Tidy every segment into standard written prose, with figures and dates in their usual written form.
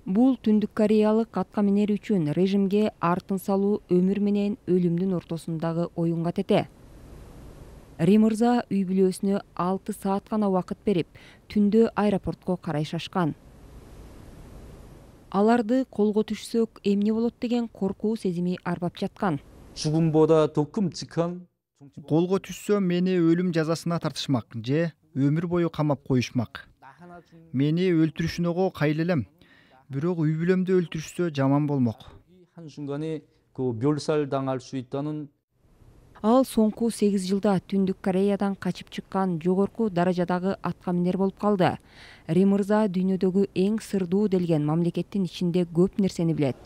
Бул Түндүк Кореялык атка минер үчүн режимге артын салуу өмүр менен өлүмдүн ортосундагы оюнга тете. Ри мырза үй бүлөсүнө 6 саат гана убакыт берип, түндө аэропортко карай шашкан. Аларды колго түшсөк эмне болот деген коркуу сезими арбап жаткан. 죽음보다 더 끔찍한 Колго түшсө мени өлүм жазасына тартышмак же өмүр бою камап коюшмак. Мени өлтүрүшүнөгө кайыл элем. Бирок үй бүлөмдү өлтүрүшсө жаман болмок. 한순간에 그 멸살당할 수 있다는 Ал соңку 8 жылда Түндүк Кореядан качып чыккан жогорку даражадагы атка минер болуп калды. Ри мырза дүйнөдөгү эң сырдуу делген мамлекеттин ичинде көп нерсени билет.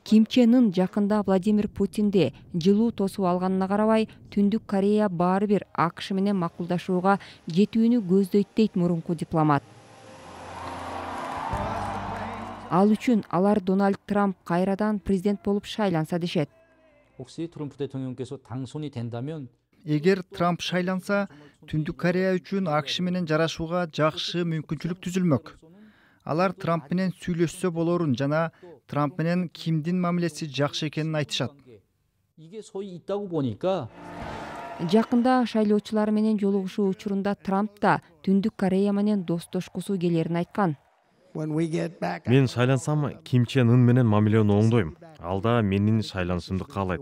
Ким Чен Ын жакында Владимир Путинди жылуу тосуп алганына карабай, Түндүк Корея баары бир АКШ менен макулдашууга жетүүнү көздөйт дейт мурунку дипломат. Ал үчүн алар Дональд Трамп кайрадан президент болуп шайланса дешет. 혹시 트럼프 대통령께서 당선이 된다면 Эгер Трамп шайланса, Түндүк Корея үчүн АКШ менен жарашууга жакшы мүмкүнчүлүк түзүлмөк. Алар Трамп менен сүйлөшсө болорун жана Трамп менен Кимдин мамилеси жакшы экенин айтышат. 이게 소위 있다고 보니까 Жакында шайлоочулар менен жолугушуу учурунда Трамп да Түндүк Корея менен достошкусу келерин айткан. Мен шайлансам, Ким Чен Ын менен мамилени оңдойм. Ал да менин шайланышымды каалайт.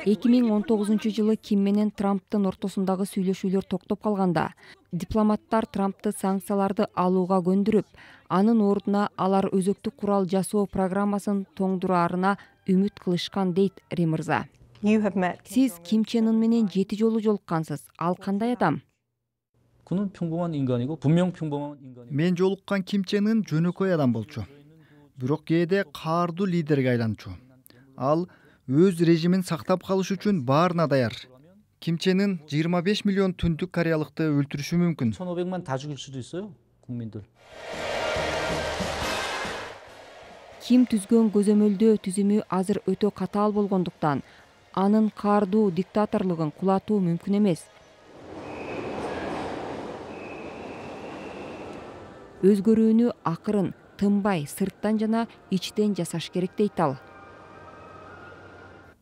2019 жылы Ким менен Трамптын ортосундагы сүйлөшүүлөр токтоп калганда, дипломаттар Трампты санкцияларды алууга көндүрүп, анын ордуна алар өзөктүк курал жасоо программасын тоңдураарына үмүт кылышкан дейт Ри мырза. Сиз Ким Чен Ын менен 7 жолу жолуккансыз. Ал кандай адам? 그는 평범한 인간이고 분명 평범한 인간이고 Мен жолуккан Ким Чен Ын жөнөкөй адам болчу. Бирок кээде каардуу лидерге айланчу. Ал өз режимин сактап калыш үчүн баарына даяр. Ким Чен Ын 25 миллион түндүк кореялыкты өлтүрүшү мүмкүн. 1,500만 다 죽일 수도 있어요. 국민들. Ким түзгөн көзөмөлдөө түзүмү азыр өтө катаал болгондуктан, анын каардуу диктаторлугун кулатуу мүмкүн эмес. Өзгөрүүнү акырын, тынбай, сырттан жана ичтен жасаш керек дейт ал.